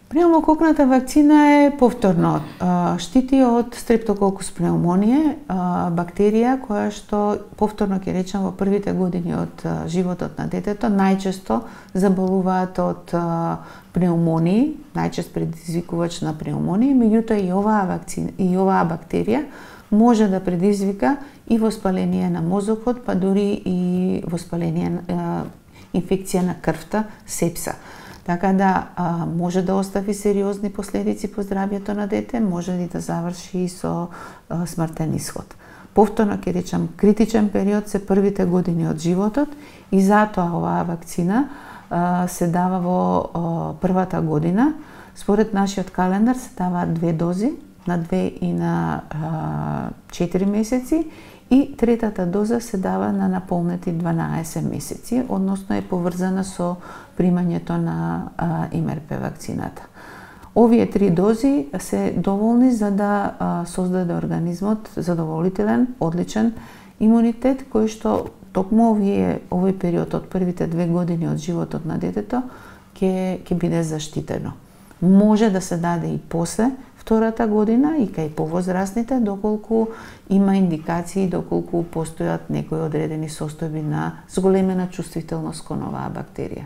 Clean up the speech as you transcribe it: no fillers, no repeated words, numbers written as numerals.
Пневмококната вакцина е повторно штити од стрептококус пневмоние, бактерија која што повторно ќе речам во првите години од животот на детето најчесто заболуваат од пневмонии, најчест предизвикувач на пневмонија, меѓутоа и оваа бактерија може да предизвика и воспаление на мозокот, па дури и воспаление инфекција на крвта, сепса. Така да може да остави сериозни последици по здравјето на дете, може и да заврши и со смртен исход. Повторно ќе речам, критичен период се првите години од животот и затоа оваа вакцина се дава во првата година. Според нашиот календар се даваат 2 дози, на 2 и на 4 месеци, и третата доза се дава на наполнети 12 месеци, односно е поврзана со примањето на МРП вакцината. Овие 3 дози се доволни за да создаде организмот задоволителен, одличен имунитет, кој што токму овој период од првите 2 години од животот на детето ќе биде заштитено. Може да се даде и после втората година и кај повозрастните, доколку има индикации, доколку постојат некои одредени состојби на зголемена чувствителност кон оваа бактерија.